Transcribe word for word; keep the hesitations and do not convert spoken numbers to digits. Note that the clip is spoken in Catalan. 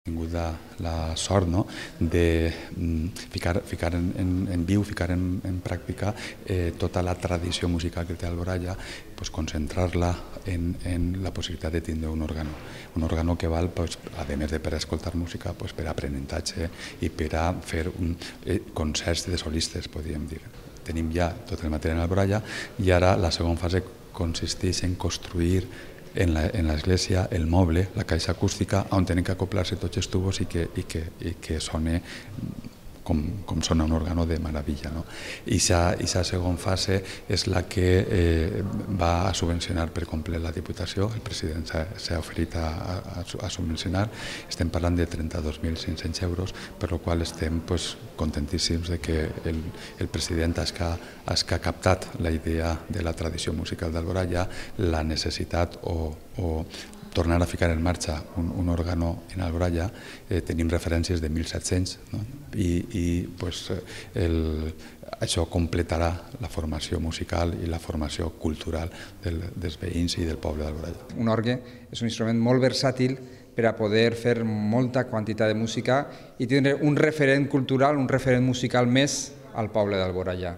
tingut la, la sort, no?, de ficar, ficar en, en, en viu, ficar en, en pràctica eh, tota la tradició musical que té Alboraya, pues, concentrar-la en, en la possibilitat de tindre un òrgano. Un òrgano que val, pues, a més de per escoltar música, pues, per aprenentatge i per a fer un, eh, concerts de solistes, podríem dir. Tenim ja tot el material en Alboraya i ara la segona fase consisteix en construir en l'església el moble, la caixa acústica, on tenen que acoplar-se tots els tubos i que, i que, i que sone com, com sona un òrgano de meravella. No? I aquesta segona fase és la que eh, va a subvencionar per complet la Diputació. El president s'ha oferit a, a, a subvencionar. Estem parlant de trenta-dos mil cinc-cents euros, per la qual estem pues, contentíssims de que el, el president ha que ha captat la idea de la tradició musical d'Alboraya, la necessitat o, o tornar a ficar en marxa un, un òrgano en Alboraya. Eh, tenim referències de mil set-cents, no? i, i pues, el, això completarà la formació musical i la formació cultural del, dels veïns i del poble d'Alboraya. Un orgue és un instrument molt versàtil per a poder fer molta quantitat de música i tindre un referent cultural, un referent musical més al poble d'Alboraya.